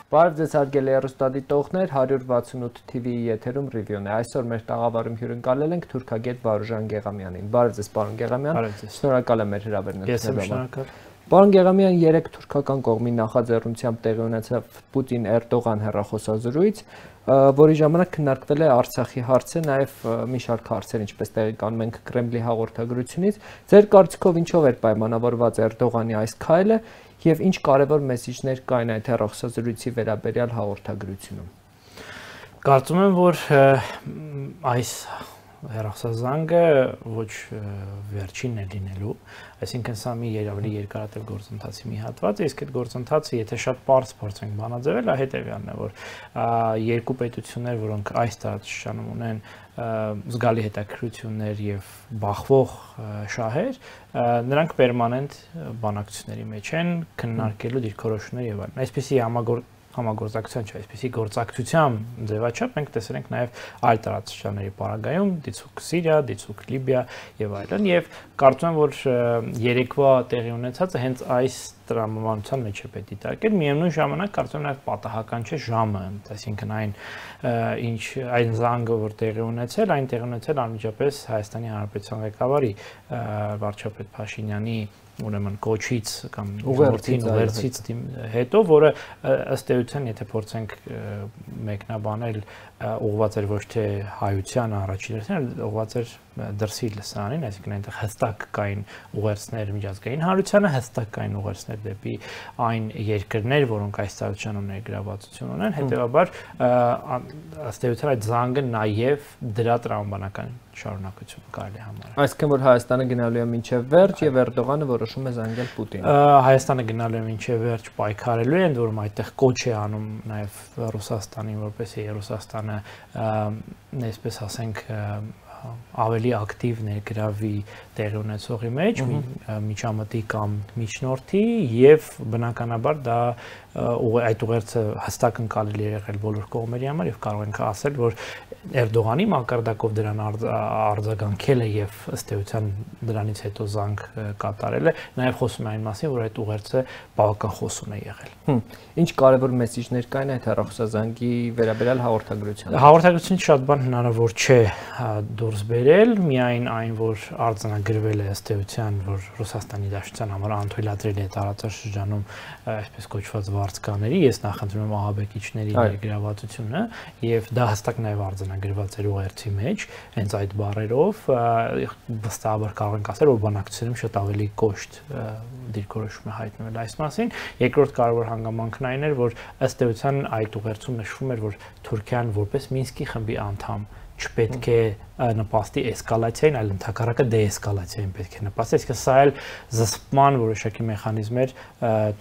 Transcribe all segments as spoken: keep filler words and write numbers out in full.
Բարև ձեզ հարգելի հեռուստադիտողներ, հարյուր վաթսունութ թիվիի եթերում ռիվյուն է։ Այսօր մեր տաղավարում հյուրընկալել ենք թուրքագետ Վարուժան Գեղամյանին։ Բարև ձեզ, պարոն Գեղամյան։ Շնորհակալ եմ մեր հրավերն Ես եմ շնորհակալ։ Պարոն Գեղամյան, երեք թուրքական կողմի նախաձեռնությամբ տեղի ունեցավ Պուտին-Էրդողան հեռախոսազրույց, որի ժամանակ քննարկվել է Արցախի հարցը, նաև մի շարք հարցեր, ինչպես տեղեկանում ենք Կրեմլի հաղորդագրությունից։ Ձեր կարծիքով ինչով էր պայմանավորված Էրդողանի այս քայլը եւ ինչ կարևոր մեսիջներ կային այդ հեռախոսազրույցի վերաբերյալ հաղորդագրությունում։ Կարծում եմ, որ այս հեռախոսազանգը ոչ վերջինն է լինելու, այսինքն սա մի ավելի երկարատև գործընթացի մի հատված է, իսկ այդ գործընթացը, եթե շատ պարզ փորձենք բանաձևել, հետեւյալն է, որ երկու պետություններ, որոնք այս տարածաշրջանում ունեն զգալի հետաքրքրություններ եւ բախվող շահեր, նրանք պերմանենտ բանակցությունների մեջ են քննարկելու դիրքորոշումներ եւ այլն։ Այսպիսի համագործ համագործակցության չէ, այսպիսի գործակցության ձևաչափ մենք տեսել ենք նաև այլ տարածաշրջանների պարագայում, դիցուք Սիրիա, դիցուք Լիբիա եւ այլն, եւ կարծում եմ, որ երեկվա տեղի ունեցածը հենց այս տրամաբանության մեջ է պետք դիտարկել, միևնույն ժամանակ կարծում եմ նաև պատահական չէ ժամը, այսինքն այն ինչ այն զանգը, որ տեղի ունեցել, այն տեղի ունեցել անմիջապես Հայաստանի Հանրապետության ղեկավարի վարչապետ Փաշինյանի ուրեմն կոչից կամ ուղերձից ուղերձից հետո, որը ըստ էության, եթե փորձենք մեկնաբանել, ուղղված էր ոչ թե հայության առաջին հերթին, այլ ուղղված էր դրսի լսարանին, այսինքն այնտեղ հստակ կային ուղերձներ միջազգային հանրությանը, հստակ կային ուղերձներ դեպի այն երկրներ, որոնք այս տարածաշրջանում ներգրավվածություն ունեն, հետեւաբար ըստ էության այդ զանգը նաև դրա տրամաբանական շարունակություն կարելի համարել։ Այսինքն որ Հայաստանը գնալու է մինչև վերջ եւ Էրդողանը որոշում է զանգել Պուտինին։ Հայաստանը գնալու է մինչև վերջ պայքարելու է, ընդ որում այդտեղ կոչ է անում նաև Ռուսաստանին, որպեսզի Ռուսաստանը, այսպես ասենք, ավելի ակտիվ ներգրավի տեղի ունեցողի մեջ, միջամտի կամ միջնորդի եւ բնականաբար դա այդ ուղերձը հստակ ընկալելի է եղել բոլոր կողմերի համար եւ կարող ենք ասել, որ Էրդողանի մակարդակով դրան արձագանքել է եւ ըստ էության դրանից հետո զանգ կատարել է, նաեւ խոսում է այն մասին, որ այդ ուղերձը բավական խոսուն է եղել։ Ինչ կարևոր մեսիջներ կային այդ հեռախոսազանգի վերաբերյալ հաղորդագրությանը։ Հաղորդագրությունից շատ բան հնարավոր չէ դուրս բերել, միայն այն, որ արձանագրվել է ըստ էության, որ Ռուսաստանի Դաշնության համար անթույլատրել է տարածաշրջանում այսպես կոչված վարձկաների, ես նախընտրում եմ ահաբեկիչների ներգրավվածությունը եւ դա հստակ նաեւ արձանագրված էր ուղերձի մեջ, հենց այդ բառերով վստահաբար կարող ենք ասել, որ բանակցությունում շատ ավելի կոշտ դիրքորոշում է հայտնվել այս մասին։ Երկրորդ կարևոր հանգամանքն այն էր, որ ըստ էության այդ ուղերձում նշվում էր, որ Թուրքիան որպես Մինսկի խմբի անդամ չպետք է նպաստի էսկալացիային, այլ ընդհակառակը դեէսկալացիային պետք է նպաստի, այսինքն սա էլ զսպման որոշակի մեխանիզմ էր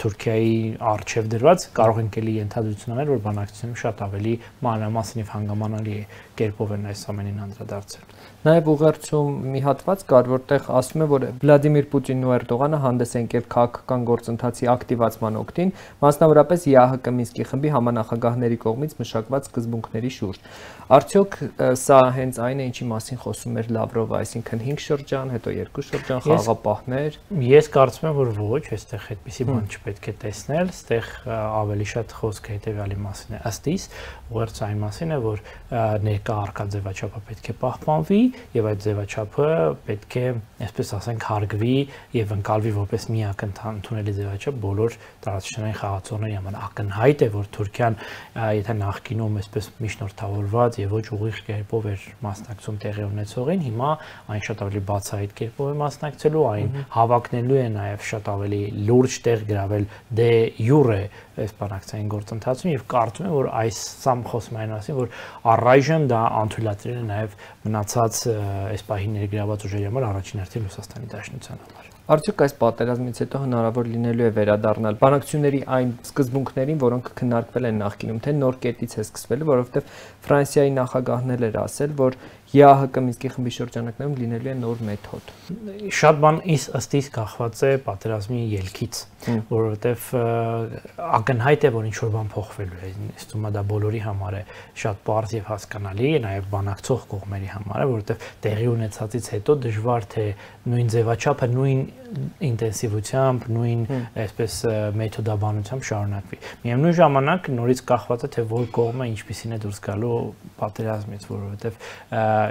Թուրքիայի առջև դրված, կարող ենք էլի ենթադրություն անել, որ բանակցությունում շատ ավելի մանրամասն եւ հանգամանալի կերպով են այս ամենին անդրադարձել։ Նաև ուղերձում մի հատված կար, որտեղ ասում է, որ Վլադիմիր Պուտինն ու Էրդողանը հանդես են եկել քաղաքական գործընթացի ակտիվացման օգտին, մասնավորապես ԵԱՀԿ Մինսկի խմբի համանախագահների կողմից մշակված սկզբունքների շուրջ։ Արդյոք սա հենց այն է, ինչի մասին խոսում էր Լավրովը, այսինքն հինգ շրջան, հետո երկու շրջան, խաղաղապահներ։ Ես կարծում եմ, որ ոչ, այստեղ այդպիսի բան չպետք է տեսնել, այստեղ ավելի շատ խոսքը հետեւյալի մասին է, ըստ իս, ուղերձը այն մասին է, որ ներկա առկա ձևաչափը պետք է պահպանվի եւ այդ ձևաչափը պետք է, այսպես ասենք, հարգվի եւ ընկալվի որպես միակ ընդունելի ձևաչափ բոլոր տարածաշրջանային խաղացողների համար։ Ակնհայտ է, որ Թուրքիան, եթե նախկինում այսպես միջնորդավորված եւ ոչ ուղիղ կերպով էր մասնակցում տեղի ունեցողին, հիմա այն շատ ավելի բացահայտ կերպով է մասնակցելու, այն հավակնելու է նաեւ շատ ավելի լուրջ տեղ գրավել դե յուրե այս բանակցային գործընթացում եւ կարծում եմ, որ այս սամ խոսում այն մասին, որ առայժմ դա անթույլատրել է նաեւ մնացած այս պահի ներգրաված ուժերի համար առաջին հերթին Ռուսաստանի Դաշնության համար։ Արդյոք այս պատերազմից հետո հնարավոր լինելու է վերադառնալ բանակցությունների այն սկզբունքներին, որոնք քննարկվել են նախկինում, թե նոր կետից է սկսվելու, որովհետև Ֆրանսիայի նախագահն էլ էր ասել, որ Ե Ա Հ Կ Մինսկի խմբի շրջանակներում լինելու է նոր մեթոդ։ Շատ բան ըստ իս կախված է պատերազմի ելքից, որովհետև ակնհայտ է, որ ինչ որ բան փոխվելու է, ինձ թվում է դա բոլորի համար է շատ պարզ եւ հասկանալի, նաեւ բանակցող կողմերի համար է, որովհետև տեղի ունեցածից հետո դժվար թե նույն ձևաչափը, նույն ինտենսիվությամբ, նույն այսպես մեթոդաբանությամբ շարունակվի։ Միևնույն ժամանակ նորից կախված է թե որ կողմը ինչպիսին է դուրս գալու պատերազմից, որովհետև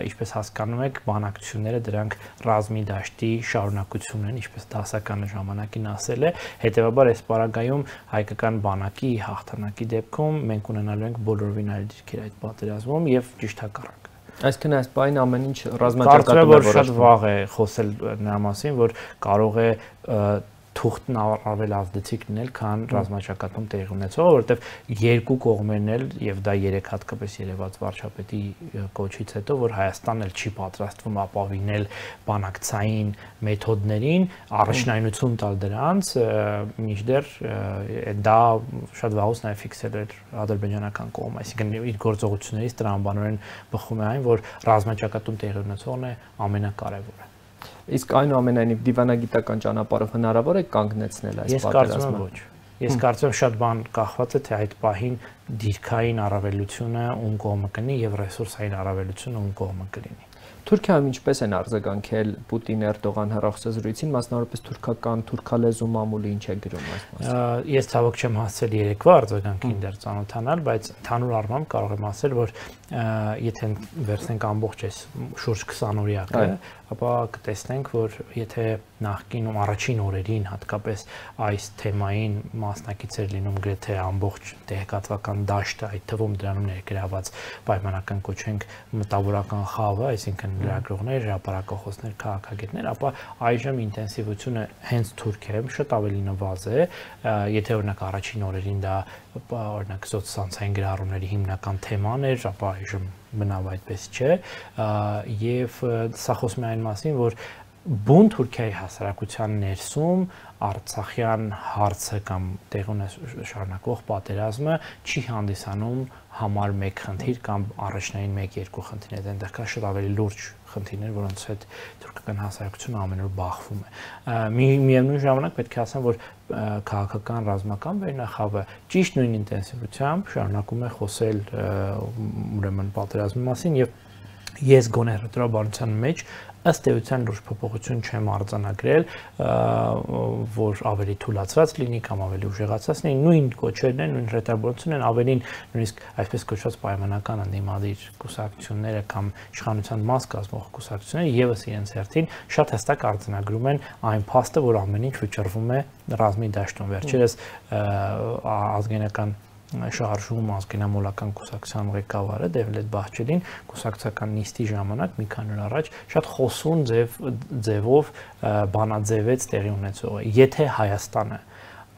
ինչպես հասկանում եք, բանակցությունները դրանք ռազմի դաշտի շարունակությունն են, ինչպես դասականը ժամանակին ասել է, հետեւաբար այս պարագայում հայկական բանակի հաղթանակի դեպքում մենք ունենալու ենք բոլորովին այլ դիրքեր այդ պատերազմում եւ ճիշտ հակառակը։ Այսինքն այս բանը ամեն ինչ ռազմաճակատում է որոշվում։ Շատ վաղ է խոսել նրա մասին, որ կարող է թուղթն ավելի ազդեցիկ լինել, քան ռազմաճակատում տեղի ունեցողը, որովհետև երկու կողմերն էլ եւ դա երեք հատկապես երևաց վարչապետի կոչից հետո, որ Հայաստանն էլ չի պատրաստվում ապավինել բանակցային մեթոդներին, առաջնայնություն տալ դրանց, մինչդեռ դա շատ վաղուց նաեւ ֆիքսել էր ադրբեջանական կողմը, այսինքն իր գործողություններից տրամաբանորեն բխում է այն, որ ռազմաճակատում տեղի ունեցողն է ամենակարևորը։ Իսկ այնուամենայնիվ դիվանագիտական ճանապարհով հնարավոր է կանգնեցնել այս պատերազմը։ Ես կարծում եմ ոչ։ Ես կարծում եմ շատ բան կախված է թե այդ պահին դիրքային առավելությունը ում կողմը կլինի եւ ռեսուրսային առավելությունը ում կողմը կլինի։ Թուրքիայում ինչպես են արձագանքել Պուտին-Էրդողան հեռախոսազրույցին, մասնավորապես թուրքական թուրքալեզու մամուլը ինչ է գրում այս մասին։ Ես ցավոք չեմ հասցել երեկվա արձագանքին դեռ ծանոթանալ, բայց ընդհանուր առմամբ կարող եմ ասել, որ եթե վերցնենք ամբողջ այս շուրջ քսան օրյակը, ապա կտեսնենք, որ եթե նախկինում առաջին օրերին հատկապես այս թեմային մասնակից էր լինում գրեթե ամբողջ տեղեկատվական դաշտը, այդ թվում դրանում ներգրաված պայմանական կոչենք մտավորական խավը, այսինքն լրագրողներ, հրապարակախոսներ, քաղաքագետներ, ապա այժմ ինտենսիվությունը հենց Թուրքիայում շատ ավելի նվազ է, եթե օրինակ առաջին օրերին դա օրինակ սոցցանցային գրառումների հիմնական թեման էր, ապա այժմ բնավ այդպես չէ, եւ սա խոսում է այն մասին, որ բուն Թուրքիայի հասարակության ներսում Արցախյան հարցը կամ տեղ ունի շարունակվող պատերազմը չի հանդիսանում համար մեկ խնդիր կամ առաջնային մեկ-երկու խնդիրներ, այնտեղ կա շատ ավելի լուրջ խնդիրներ, որոնց հետ թուրքական հասարակությունը ամեն օր բախվում է։ Միևնույն ժամանակ պետք է ասեմ, որ քաղաքական ռազմական վերնախավը ճիշտ նույն ինտենսիվությամբ շարունակում է խոսել ուրեմն պատերազմի մասին եւ ես գոնե հրատարակության մեջ ըստ էության լուրջ փոփոխություն չեմ արձանագրել, որ ավելի թուլացված լինի կամ ավելի ուժեղացած լինի, նույն կոչերն են, նույն հրետանությունն են, ավելին նույնիսկ այսպես կոչված պայմանական ընդդիմադիր կուսակցությունները կամ իշխանության մաս կազմող կուսակցությունները եւս իրենց հերթին շատ հստակ արձանագրում են այն փաստը, որ ամեն ինչ վճռվում է ռազմի դաշտում։ Վերջերս ազգայնական շարժում ազգենամոլական կուսակցության ղեկավարը Դևլետ Բահչելին կուսակցական նիստի ժամանակ մի քանի օր առաջ շատ խոսուն ձև ձևով բանաձևեց տեղի ունեցողը։ Եթե Հայաստանը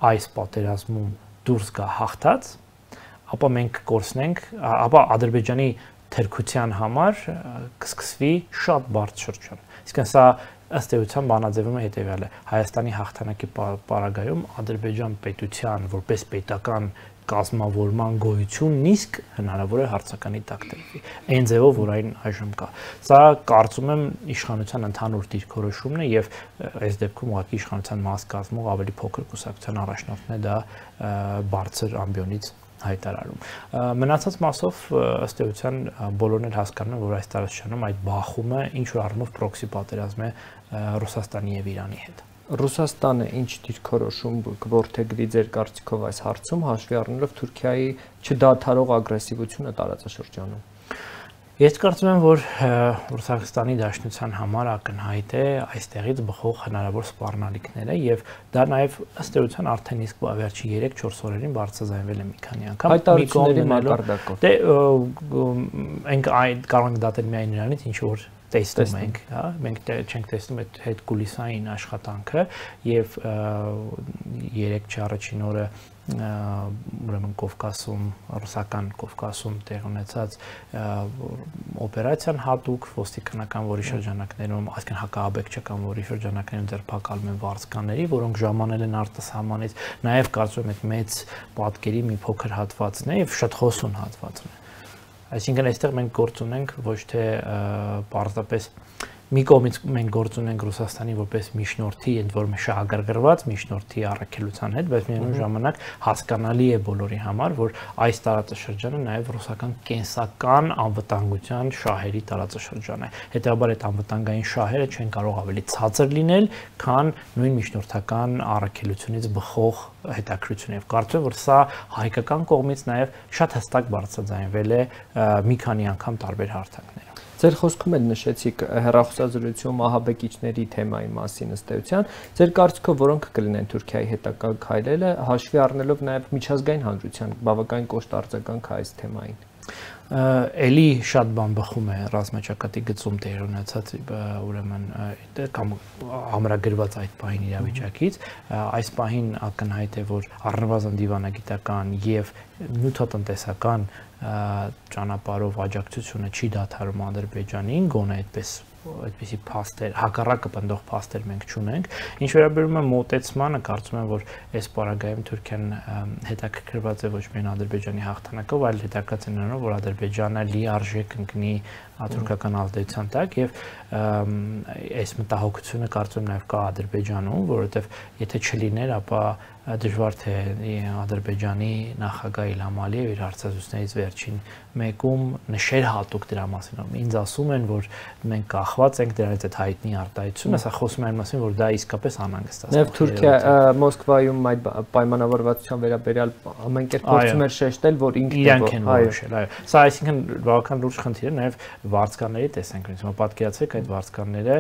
այս պատերազմում դուրս գա հաղթած, ապա մենք կորցնենք, ապա Ադրբեջանի թերքության համար կսկսվի շատ բարդ շրջան։ Իսկն սա ըստ էության բանաձևում է հետևյալը. Հայաստանի հաղթանակի պարագայում Ադրբեջան պետության որպես պետական կազմավորման գոյությունն իսկ հնարավոր է հարցականի տակ դրվի։ Այն ձևով, որ այն այժմ կա։ Սա կարծում եմ իշխանության ընդհանուր դիրքորոշումն է եւ այս դեպքում ուղղակի իշխանության մաս կազմող ավելի փոքր կուսակցության առաջնորդն է դա բարձր ամբիոնից հայտարարում։ Մնացած մասով ըստ էության բոլորն էլ հասկանում են, որ այս տարածաշրջանում այդ բախումը ինչ որ առումով պրոքսի պատերազմ է Ռուսաստանի եւ Իրանի հետ։ Ռուսաստանը ինչ դիրքորոշում կորդեգրի ձեր կարծիքով այս հարցում, հաշվի առնելով Թուրքիայի չդադարող ագրեսիվությունը տարածաշրջանում։ Ես կարծում եմ, որ Ռուսաստանի Դաշնության համար ակնհայտ է այստեղից բխող հնարավոր սպառնալիքները եւ դա նաեւ ըստ էության արդեն իսկ վերջի երեք-չորս օրերին բարձրաձայնվել է մի քանի անգամ։ Հայտարարությունների մակարդակով։ Դե ենք այդ կարող ենք դատել միայն նրանից, ինչ որ տեսնում ենք, հա, մենք չենք տեսնում այդ հետ կուլիսային աշխատանքը եւ երեք չառաջին օրը ուրեմն Կովկասում, ռուսական Կովկասում տեղ ունեցած օպերացիան հատուկ ոստիկանական որի շրջանակներում, այսինքն հակաաբեկչական որի շրջանակներում ձերբակալում են վարձկաների, որոնք ժամանել են արտասահմանից, նաեւ կարծում եմ այդ մեծ պատկերի մի փոքր հատվածն է եւ շատ խոսուն հատվածն է։ Այսինքն այստեղ մենք գործ ունենք ոչ թե պարզապես մի կողմից մենք գործ ունենք Ռուսաստանի որպես միջնորդի, ընդ որում շահագրգռված միջնորդի առաքելության հետ, բայց միևնույն ժամանակ հասկանալի է բոլորի համար, որ այս տարածաշրջանը նաև ռուսական կենսական անվտանգության շահերի տարածաշրջան է։ Հետևաբար այդ անվտանգային շահերը չեն կարող ավելի ցածր լինել, քան նույն միջնորդական առաքելությունից բխող հետաքրքրություն եւ կարծում եմ, որ սա հայկական կողմից նաև շատ հստակ բարձրաձայնվել է մի քանի անգամ տարբեր հարթակներում։ Ձեր խոսքում էլ նշեցիք հեռախոսազրույցում ահաբեկիչների թեմայի մասին ըստ էության, ձեր կարծիքով որոնք կլինեն Թուրքիայի հետագա քայլերը, հաշվի առնելով նաև միջազգային հանրության բավականին կոշտ արձագանք այս թեմային։ Էլի շատ բան բխում է ռազմաճակատի գծում տեղ ունեցած ուրեմն կամ ամրագրված այդ պահին իրավիճակից, այս պահին ակնհայտ է, որ առնվազն դիվանագիտական եւ նյութատնտեսական ճանապարհով աջակցությունը չի դադարում Ադրբեջանին, գոնե այդպես այդպիսի փաստեր, հակառակը պնդող փաստեր մենք չունենք։ Ինչ վերաբերում է մոտեցմանը, կարծում եմ, որ այս պարագայում Թուրքիան հետաքրքրված է ոչ միայն Ադրբեջանի հաղթանակով, այլ հետաքրքրված է նրանով, որ Ադրբեջանը լիարժեք ընկնի թուրքական ազդեցության տակ եւ այս մտահոգությունը կարծում եմ նաեւ կա Ադրբեջանում, որովհետեւ եթե չլիներ, ապա դժվար թե Ադրբեջանի նախագահ Իլհամ Ալիևը իր հարցազրույցներից վերջին մեկում նշեր հատուկ դրա մասին։ Ինձ ասում են, որ մենք կախված ենք դրանից այդ հայտնի արտահայտությունը, սա խոսում է այն մասին, որ դա իսկապես անհանգստացնում է։ Նաև Թուրքիա Մոսկվայում այդ պայմանավորվածության վերաբերյալ ամեն կերպ փորձում էր շեշտել, որ ինքն իրանք են որոշել, այո։ Սա այսինքն բավական լուրջ խնդիր է, նաև վարձկանների տեսանկյունից։ Հիմա պատկերացրեք այդ վարձկանները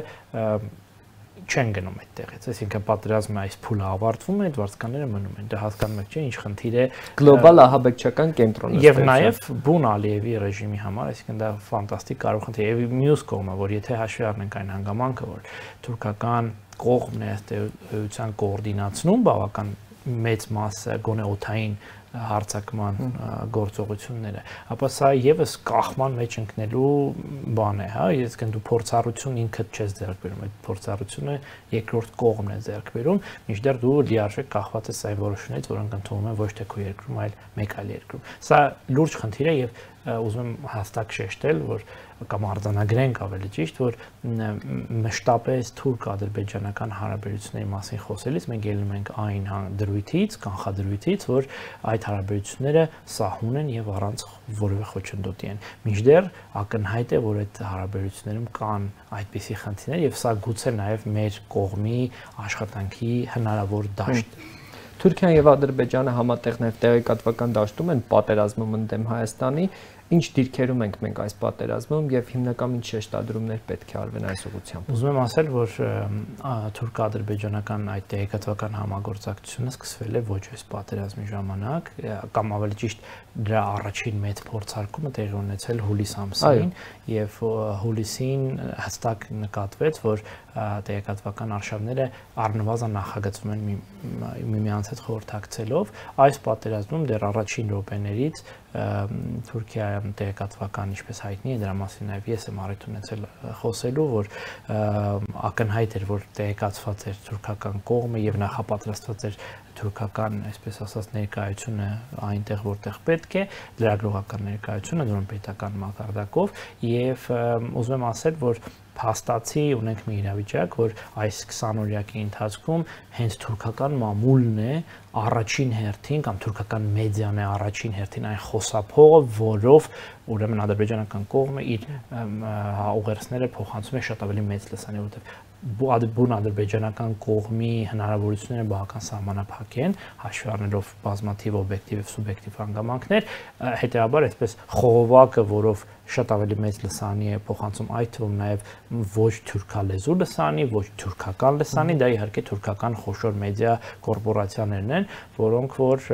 չեն գնում այդտեղից, այսինքն պատերազմը այս փուլը ավարտվում է, այդ վարձկանները մնում են։ Դա հասկանում եք, չէ՞, ինչ խնդիր է գլոբալ ահաբեկչական կենտրոնը։ Եվ նաև բուն Ալիևի ռեժիմի համար, այսինքն դա ֆանտաստիկ կարող խնդիր է։ Եվ մյուս կողմը, որ եթե հաշվի առնենք այն հանգամանքը, որ թուրքական կողմն է ըստ էության կոորդինացնում բավական մեծ մասը գոնե օդային հարցակման գործողությունները, ապա սա եւս կախման մեջ ընկնելու բան է, հա, այսինքն դու փորձառություն ինքդ չես ձեռք բերում, այդ փորձառությունը երկրորդ կողմն է ձեռք բերում, մինչդեռ դու լիարժեք կախված ես այն որոշումներից, որոնք ընդունվում են ոչ թե քո երկրում, այլ մեկ այլ երկրում։ Սա լուրջ խնդիր է եւ ուզում եմ հստակ շեշտել, որ կամ արձանագրենք ավելի ճիշտ, որ մշտապես թուրք-ադրբեջանական հարաբերությունների մասին խոսելիս մենք ելնում ենք այն դրույթից, կանխադրույթից, որ այդ հարաբերությունները սահուն են եւ առանց որևէ խոչընդոտի են։ Մինչդեռ ակնհայտ է, որ այդ հարաբերություններում կան այդպիսի խնդիրներ եւ սա գուցե նաեւ մեր կողմի աշխատանքի հնարավոր դաշտ է։ Թուրքիան եւ Ադրբեջանը համատեղ նաեւ տեղեկատվական դաշտում են պատերազմում ընդդեմ Հայաստանի, ինչ դիրքերում ենք մենք այս պատերազմում եւ հիմնական ինչ շեշտադրումներ պետք է արվեն այս ուղղությամբ։ Ուզում եմ ասել, որ թուրք-ադրբեջանական այդ տեղեկատվական համագործակցությունը սկսվել է ոչ այս պատերազմի ժամանակ, կամ ավելի ճիշտ դրա առաջին մեծ փորձարկումը տեղի ունեցել հուլիս ամսին եւ հուլիսին հստակ նկատվեց, որ տեղեկատվական արշավները առնվազն նախագծվում են միմյանց հետ խորհրդակցելով։ Այս պատերազմում դեռ առաջին րոպեներից Թուրքիայում տեղեկատվական, ինչպես հայտնի է, դրա մասին նաև ես եմ առիթ ունեցել խոսելու, որ ակնհայտ էր, որ տեղեկացված էր թուրքական կողմը եւ նախապատրաստված էր թուրքական, այսպես ասած, ներկայությունը այնտեղ, որտեղ պետք է, լրագրողական ներկայությունը, դրան պետական մակարդակով, եւ ուզում եմ ասել, որ փաստացի ունենք մի իրավիճակ, որ այս քսանօրյակի ընթացքում հենց թուրքական մամուլն է առաջին հերթին կամ թուրքական մեդիան է առաջին հերթին այն խոսափողը, որով ուրեմն ադրբեջանական կողմը իր ուղերձները փոխանցում է շատ ավելի մեծ լսանի, որովհետև բուն ադրբեջանական կողմի հնարավորությունները բավական սահմանափակ են, հաշվի առնելով բազմաթիվ օբյեկտիվ եւ սուբյեկտիվ հանգամանքներ, հետեւաբար այսպես խողովակը, որով շատ ավելի մեծ լսանի է փոխանցում, այդ թվում նաև ոչ թուրքալեզու լսանի, ոչ թուրքական լսանի, դա իհարկե թուրքական խոշոր մեդիա կորպորացիաներն են, որոնք որ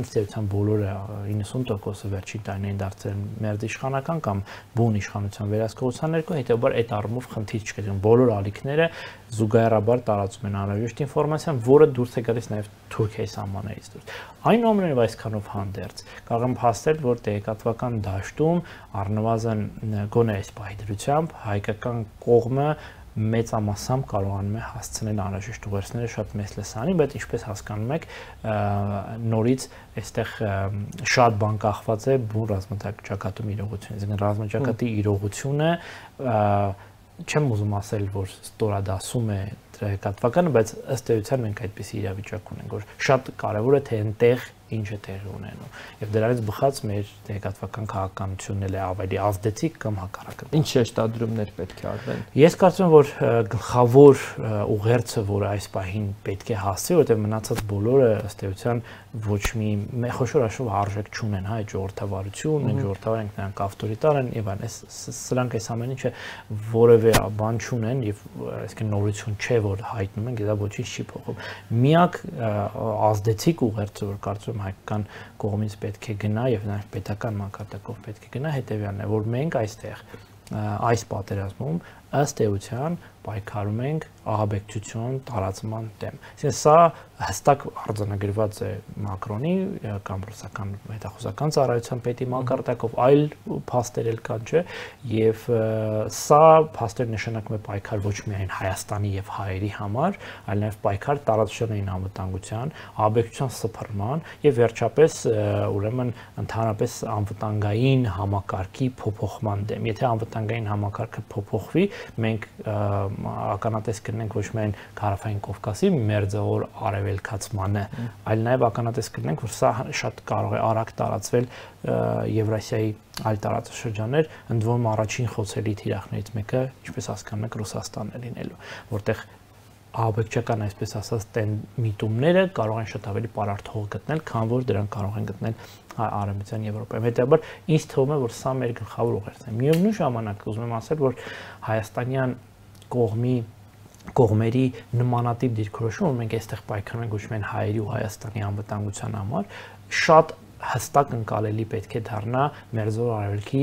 ըստ էության բոլորը իննսուն տոկոսը վերջին տարիներին դարձել են մերձիշխանական կամ բուն իշխանության վերահսկողության ներքո, հետեւաբար այդ առումով խնդիր չկա, բոլոր ալիքները զուգահեռաբար տարածում են անհրաժեշտ ինֆորմացիան, որը դուրս է գալիս նաև Թուրքիայի սահմաններից դուրս։ Այնուամենայնիվ այսքանով հանդերձ կարող եմ փաստել, որ տեղեկատվական դաշտում առնվազն գոնե այս պահի դրությամբ հայկական կողմը մեծամասամբ կարողանում է հասցնել անհրաժեշտ ուղերձները շատ մեծ լսանին, բայց ինչպես հասկանում եք, նորից այստեղ շատ բան կախված է բուն ռազմաճակատում իրողությունից, այսինքն ռազմաճակատի իրողությունը չեմ ուզում ասել, որ ստորադասում է տեղեկատվականը, բայց ըստ էության մենք այդպիսի իրավիճակ ունենք, որ շատ կարևոր է թե այնտեղ ինչ է տեղի ունենում։ Եվ դրանից բխած մեր տեղեկատվական քաղաքականությունն էլ է ավելի ազդեցիկ կամ հակառակը։ Ինչ շեշտադրումներ պետք է արվեն։ Ես կարծում եմ, որ գլխավոր ուղերձը, որը այս պահին պետք է հասցի, որտեղ մնացած բոլորը ըստ էության ոչ մի խոշոր հաշվով արժեք չունեն, հա, ժողովրդավարություն, մենք ժողովրդավար ենք, նրանք ավտորիտար են եւ այլն, սրանք այս ամեն ինչը որևէ բան չունեն եւ այսինքն նորություն չէ, որ հայտնում ենք, դա ոչինչ չի փոխում։ Միակ ազդեցիկ ուղերձը, որ կարծում եմ հայկական կողմից պետք է գնա եւ նաեւ պետական մակարդակով պետք է գնա, հետեւյալն է, որ մենք այստեղ այս պատերազմում ըստ էության պայքարում ենք ահաբեկչություն տարածման դեմ։ Այսինքն սա հստակ արձանագրված է Մակրոնի կամ ռուսական հետախուզական ծառայության պետի մակարդակով, այլ փաստեր էլ կան, չէ՞, եւ սա փաստեր նշանակում է պայքար ոչ միայն Հայաստանի եւ հայերի համար, այլ նաեւ պայքար տարածաշրջանային անվտանգության, ահաբեկչության սփռման եւ վերջապես ուրեմն ընդհանրապես անվտանգային համակարգի փոփոխման դեմ։ Եթե անվտանգային համակարգը փոփոխվի, մենք ականատես կլինենք ոչ միայն Հարավային Կովկասի մերձավոր արևելքացմանը, այլ նաև ականատես կլինենք, որ սա շատ կարող է արագ տարածվել Եվրասիայի այլ տարածաշրջաններ, ընդ որում առաջին խոցելի թիրախներից մեկը, ինչպես հասկանում եք, Ռուսաստանն է լինելու, որտեղ ահաբեկչական, այսպես ասած, միտումները կարող են շատ ավելի պարարտող գտնել, քան որ դրանք կարող են գտնել Արևմտյան Եվրոպայում։ Հետեւաբար ինձ թվում է, որ սա մեր գլխավոր ուղերձն է։ Միևնույն ժամանակ ուզում եմ ասել, որ հայաստանյան կողմի կողմերի նմանատիպ դիրքորոշումը, մենք այստեղ պայքարում ենք ոչ միայն հայերի ու Հայաստանի անվտանգության համար, շատ հստակ ընկալելի պետք է դառնա Մերձավոր Արևելքի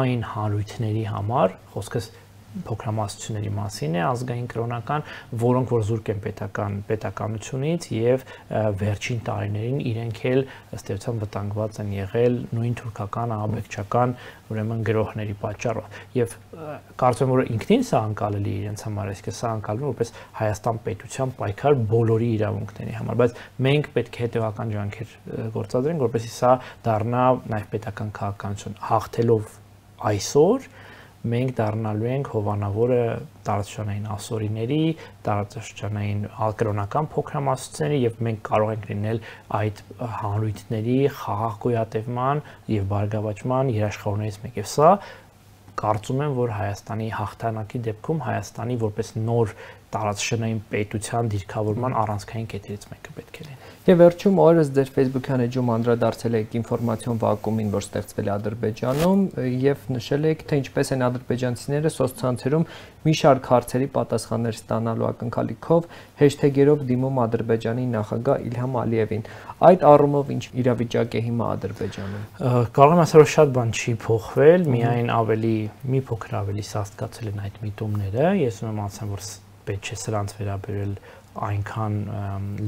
այն հանրույթների համար, խոսքս փոքրամասնությունների մասին է, ազգային կրոնական, որոնք որ զուրկ են պետական պետականությունից եւ վերջին տարիներին իրենք էլ ըստ էության վտանգված են եղել նույն թուրքական ահաբեկչական ուրեմն գրոհների պատճառով։ Եվ կարծում եմ, որ ինքնին սա անկալելի է իրենց համար, այսինքն սա անկալվում է որպես Հայաստան պետության պայքար բոլորի իրավունքների համար, բայց մենք պետք է հետևական ջանքեր գործադրենք, որպեսզի սա դառնա նաեւ պետական քաղաքականություն, հաղթելով այսօր մենք դառնալու ենք հովանավորը տարածաշրջանային ասորիների, տարածաշրջանային ալկրոնական փոքրամասնությունների եւ մենք կարող ենք լինել այդ հանրույթների խաղաղ գոյատևման եւ բարգավաճման երաշխավորներից մեկ։ Եվ սա կարծում եմ, որ Հայաստանի հաղթանակի դեպքում Հայաստանի որպես նոր տարածաշրջանային պետության դիրքավորման առանցքային կետերից մեկը պետք է լինի։ Եվ վերջում օրս ձեր Facebook-յան էջում անդրադարձել եք ինֆորմացիոն վակուումին, որ ստեղծվել է Ադրբեջանում, եւ նշել եք, թե ինչպես են ադրբեջանցիները սոցցանցերում մի շարք հարցերի պատասխաններ ստանալու ակնկալիքով հեշթեգերով դիմում Ադրբեջանի նախագահ Իլհամ Ալիևին։ Այդ առումով ինչ իրավիճակ է հիմա Ադրբեջանում։ Կարող եմ ասել, որ շատ բան չի փոխվել, միայն ավելի մի փոքր ավելի սաստկացել են այդ միտումները։ Ես ուզում եմ ասեմ, որ պետք չէ սրանց վերաբերել այնքան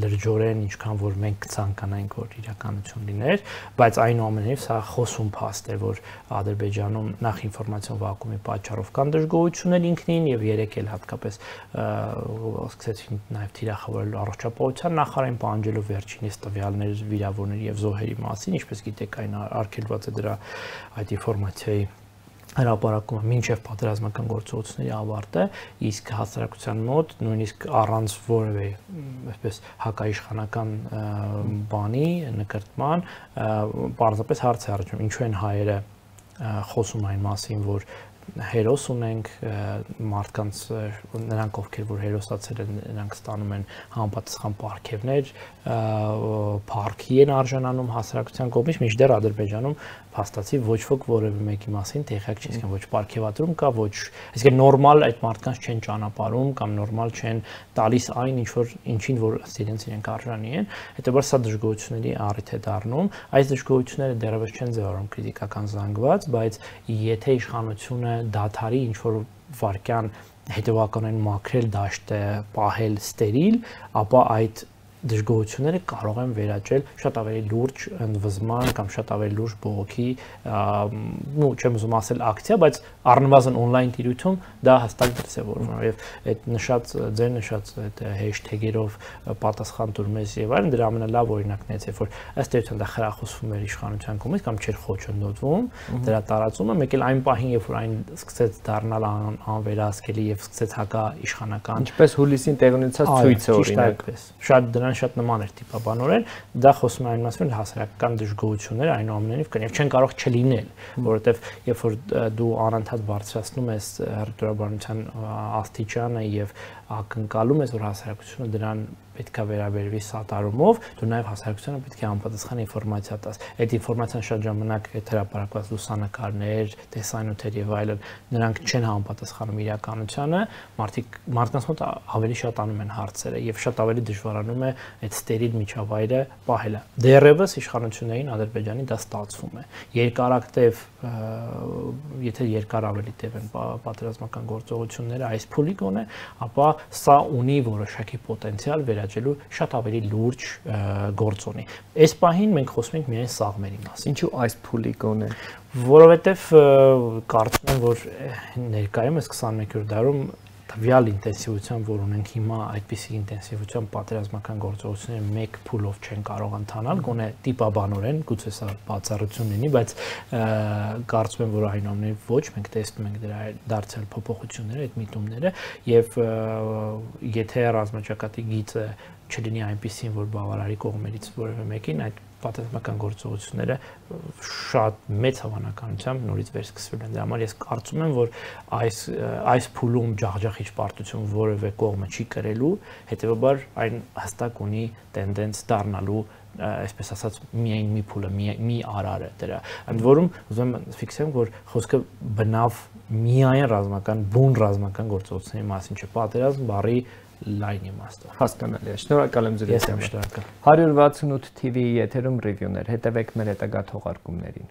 լրջորեն, ինչքան որ մենք ցանկանայինք, որ իրականություն լիներ, բայց այնուամենայնիվ սա խոսում փաստ է, որ Ադրբեջանում նախ ինֆորմացիոն վակուումի պատճառով կան դժգոհություններ ինքնին եւ երեք էլ հատկապես սկսեցին նաեւ թիրախավորել առողջապահության նախարարին, պահանջելով վերջինիս տվյալներ վիրավորների եւ զոհերի մասին, ինչպես գիտեք, այն արգելված է դրա այդ ինֆորմացիայի հրապարակումը մինչև պատերազմական գործողությունների ավարտը, իսկ հասարակության մոտ նույնիսկ առանց որևէ այսպես հակաիշխանական բանի նկարտման պարզապես հարց է առաջանում, ինչու են հայերը խոսում այն մասին, որ հերոս ունենք, մարդկանց նրանք ովքեր որ հերոսացել են, նրանք ստանում են համապատասխան պարգևներ, փառքի են արժանանում հասարակության կողմից, մինչդեռ Ադրբեջանում փաստացի ոչ ոք որևէ մեկի մասին տեղյակ չի, այսինքն ոչ պարգևատրում կա, ոչ, այսինքն նորմալ այդ մարդկանց չեն ճանապարհում կամ նորմալ չեն տալիս այն, ինչ որ ինչին որ իրենց իրենք արժանի են, հետեւաբար սա դժգոհությունների առիթ է դառնում, այս դժգոհությունները դեռևս չեն ձևավորում քրիտիկական զանգված, բայց եթե իշխանությունը դադարի ինչ որ վարքյան հետևականորեն մաքրել դաշտը, պահել ստերիլ, ապա այդ դժգոհությունները կարող են վերաճել շատ ավելի լուրջ ընդվզման կամ շատ ավելի լուրջ բողոքի, ну, չեմ ուզում ասել ակցիա, բայց առնվազն on-line տիրույթում դա հստակ դրսևորվում է եւ այդ նշած ձեր նշած այդ հեշթեգերով պատասխան տուր մեզ եւ այլն դրա ամենալավ օրինակն է, երբ որ ըստ էության դա խրախուսվում էր իշխանության կողմից կամ չէր խոչընդոտվում, դրա տարածումը, մեկ էլ այն պահին, երբ որ այն սկսեց դառնալ անվերահսկելի եւ սկսեց հակա իշխանական, ինչպես հուլիսին տեղի ունեցած ցույցը օրինակ, շատ դրան շատ նման էր տիպաբանորեն, դա խոսում է այն մասին, որ հասարակական դժգոհությունները այնուամենայնիվ կան եւ չեն կարող չլինել, որովհետեւ երբ որ դու անընդհատ բարձրացնում ես հռետորաբանության աստիճանը եւ ակնկալում ես, որ հասարակությունը դրան պետք է վերաբերվի սատարումով, դու նաև հասարակությանը պետք է անպատասխան ինֆորմացիա տաս։ Այդ ինֆորմացիան շատ ժամանակ հրապարակված լուսանկարներ, տեսանյութեր եւ այլն, նրանք չեն համապատասխանում իրականությանը, մարդիկ մարդկանց մոտ ավելի շատ անում են հարցերը եւ շատ ավելի դժվարանում է այդ ստերիլ միջավայրը պահելը։ Դեռևս իշխանություններին Ադրբեջանի դա ստացվում է։ Երկարակտև, եթե երկար ավելի տև են պատերազմական գործողությունները այս փուլի գոնե, ապա սա ունի որոշակի պոտենցիալ վերաճելու շատ ավելի լուրջ գործոնի։ Այս պահին մենք խոսում ենք միայն սաղմերի մասին։ Ինչու այս փուլի գոնե։ Որովհետև կարծում եմ, որ ներկայումս քսաներկերորդ դարում տվյալ ինտենսիվությամբ, որ ունենք հիմա, այդպիսի ինտենսիվությամբ պատերազմական գործողությունները մեկ փուլով չեն կարող ընթանալ, գոնե տիպաբանորեն, գուցե սա բացառություն լինի, բայց կարծում եմ, որ այնուամենայնիվ ոչ, մենք տեսնում ենք դրա դարձյալ փոփոխությունները, այդ միտումները, եւ եթե ռազմաճակատի գիծը չլինի այնպիսին, որ բավարարի կողմերից որևէ մեկին, այդ պատերազմական գործողությունները շատ մեծ հավանականությամբ նորից վերսկսվել են։ Դրա համար ես կարծում եմ, որ այս այս փուլում ջախջախիչ պարտություն որևէ կողմը չի կրելու, հետեւաբար այն հստակ ունի տենդենս դառնալու, այսպես ասած, միայն մի փուլը, մի արար է դրա։ Ընդ որում, ուզում եմ ֆիքսեմ, որ խոսքը բնավ միայն ռազմական, բուն ռազմական գործողությունների մասին չէ, պատերազմ բառի լայն իմաստով։ Հասկանալի է։ Շնորհակալ եմ ձեր հետ։ Ես եմ շնորհակալ։ հարյուր վաթսունութ թիվի եթերում ռիվյուներ, հետևեք մեր հետագա թողարկումներին։